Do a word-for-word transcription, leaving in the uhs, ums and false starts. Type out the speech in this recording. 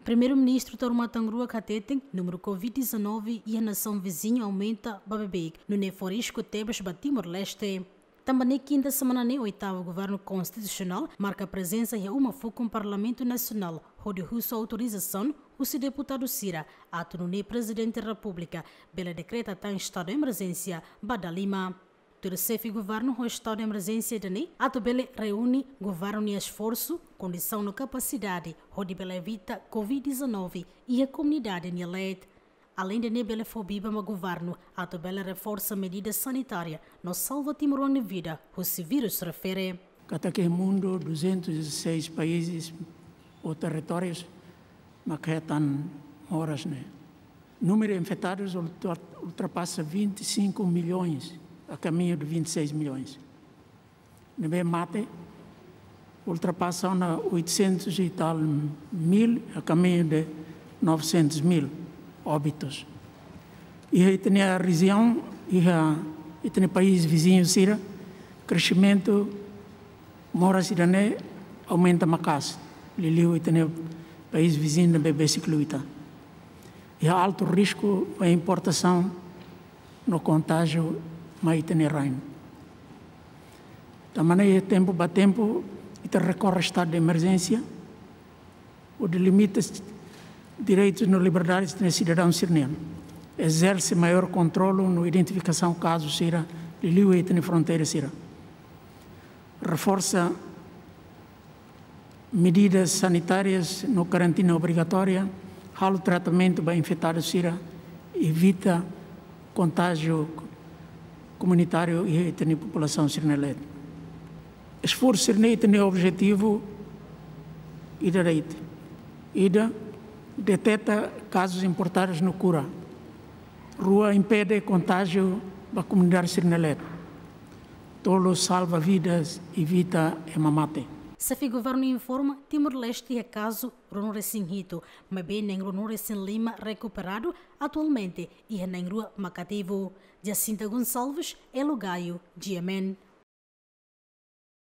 Primeiru-Ministru Taur Matan Ruak hateten númeru covid dezanove iha nasaun viziñu aumenta ba beibeik, nune'e fó risku tebes ba Timor-Leste. Tanba ne'e kinta semana ne'e oitavu Governu Konstitusionál marka prezensa iha uma fukun Parlamentu Nasionál, hodi husu autorizasaun husi deputadu sira atu nune'e Prezidente Repúblika bele dekreta tan estadu de emerjénsia ba dala lima. Tuir xefe governu, ho estadu de emerjénsia ida-ne'e atu bele reúne governu nia esforsu, kondisaun no kapasidade hodi bele evita covid dezanove iha komunidade nia leet. Aleinde ne'e bele fó biban ba governu atu bele reforsa medida sanitária no salva timoroan nia vida husi vírus refere. Katak iha mundu duzentos e dezasseis países ou territórios mak hetan moras ne'e. Númeru infetadus ultra-, ultrapasa vinte e cinco milhões, a caminho de vinte e seis milhões. Ne'ebé mate ultrapasa ona oitocentos e tal mil, a caminho de novecentos mil óbitos. Iha ita-nia rejiaun, iha ita-nia país viziñu sira, kresimentu moras ida-ne'e aumenta maka'as, liuliu ita-nia país viziñu ne'ebé besik liu ita. Iha altu risku ba importasaun no kontájiu mai ita-nia rain. Tanba ne'e tempu ba tempu ita rekorre estadu de emerjénsia, hodi limita direitus no liberdades de sidadaun sira-nian. Ezerse maiór kontrolu no identifikasaun kazu sira, liuliu iha ita-nia fronteira sira. Reforsa medidas sanitárias no karantina obrigatória, halo tratamentu ba infetadu sira, evita kontájiu komunitáriu iha ita-nia populasaun sira-nia leet. Esforsu sira-ne'e ita-nia objetivu ida de'it. Ida, deteta kazus importadus no kura. Rua, impede kontájiu ba komunidade sira-nia leet. Tolu, salva vidas, evita ema mate. Xefe governu informa, Timor-Leste iha kazu ruanulu-resin-hitu, maibé na'in ruanulu-resin-lima rekuperadu, atualmente iha na'in rua mak ativu. Jacinta Gonçalves, Elo Gaio, G M N.